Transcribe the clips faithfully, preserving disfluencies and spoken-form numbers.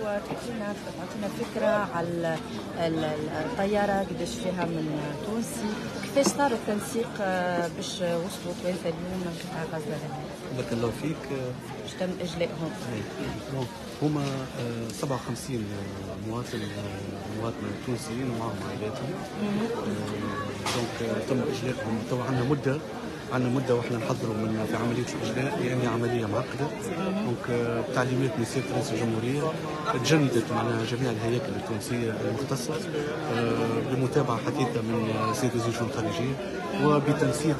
وتعطينا تعطينا فكرة على الطيارة قداش فيها من تونسي وكيفاش صار التنسيق باش وصلوا توانسة اليوم من قطاع غزة؟ بارك الله فيك. باش تم اجلائهم؟ هما سبعة وخمسين مواطن مواطنه تونسيين ومعهم عائلاتهم. donc تم اجلائهم تو عندنا مده عندنا مده واحنا نحضروا من في عملية الاجلاء لان عملية معقدة. donc بتعليمات من سيادة رئيس الجمهورية تجندت معناها جميع الهياكل التونسية المختصة بمتابعة حثيثه من سيد وزير الشؤون الخارجية وبتنسيق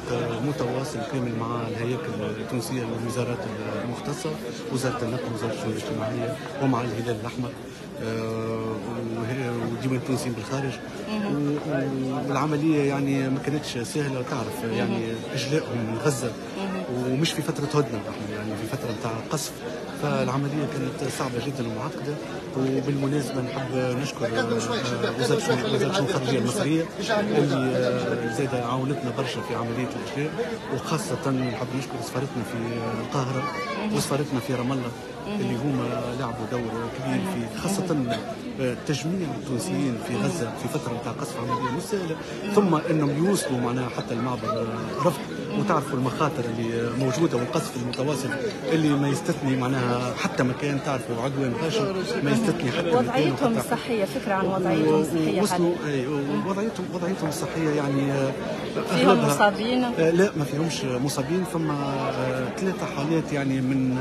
متواصل كامل مع الهياكل التونسية والوزارات المختصة، وزارة النقل، وزارة الشؤون الاجتماعية، ومع الهلال الاحمر وديوان التونسيين بالخارج. والعملية يعني ما كانتش سهلة، تعرف يعني اجلائهم من غزة ومش في فترة هدنة، احنا يعني في فترة نتاع قصف، فالعملية كانت صعبة جدا ومعقدة. وبالمناسبة نحب نشكر وزارة الشؤون الخارجية المصرية اللي زاد عاونتنا برشا في عملية الاجلاء، وخاصة نحب نشكر سفارتنا في القاهرة وسفارتنا في رام الله اللي هما لعبوا دور كبير في خاصة تجميع التونسيين في غزة في فترة نتاع قصف، عملية مش سهلة، ثم انهم يوصلوا معناها حتى المعبر رفح، وتعرفوا المخاطر اللي موجودة والقصف المتواصل اللي ما يستثني معناها حتى مكان، تعرفوا عدوان غاشم ما يستثني حتى مكان. وضعيتهم الصحية، فكرة عن وضعيتهم الصحية. وصلوا وضعيتهم وضعيتهم الصحية يعني فيهم مصابين؟ لا ما فيهمش مصابين، فما ثلاثة حالات يعني من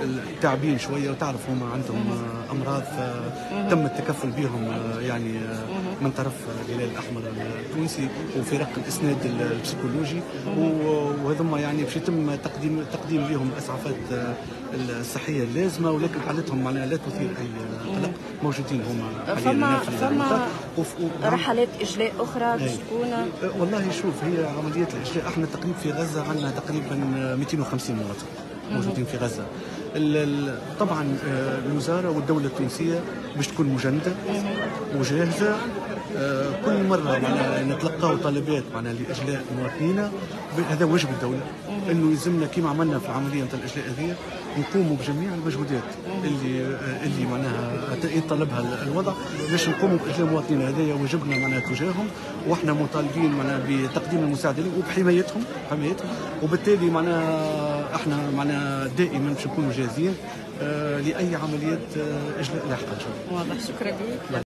التعبين شوية، وتعرف هما عندهم امراض فتم التكفل بهم يعني من طرف الهلال الاحمر التونسي وفرق الاسناد البسيكولوجي، وهذوما يعني باش يتم تقديم تقديم لهم الاسعافات الصحية اللازمة، ولكن حالتهم معناها لا تثير اي قلق، موجودين هما حاليا. فما فما رحلات اجلاء اخرى باش تكون؟ والله شوف، هي عملية الاجلاء احنا تقريبا في غزة عندنا تقريبا مئتين وخمسين مواطن موجودين في غزة. طبعا الوزارة والدولة التونسية باش تكون مجندة وجاهزة كل مرة معناها نتلقاو طلبات معناها لاجلاء مواطنينا، هذا واجب الدولة انه يلزمنا كما عملنا في العملية نتاع الاجلاء هذه نقوموا بجميع المجهودات اللي اللي معناها يطلبها الوضع باش نقوموا باجلاء مواطنينا، هذا واجبنا معناها تجاههم، واحنا مطالبين معناها بتقديم المساعدة لهم وبحمايتهم حمايتهم، وبالتالي معناها احنا معناها دائما باش نكونوا جاهزين لاي عمليات اجلاء لاحقة ان شاء الله. واضح، شكرا لك.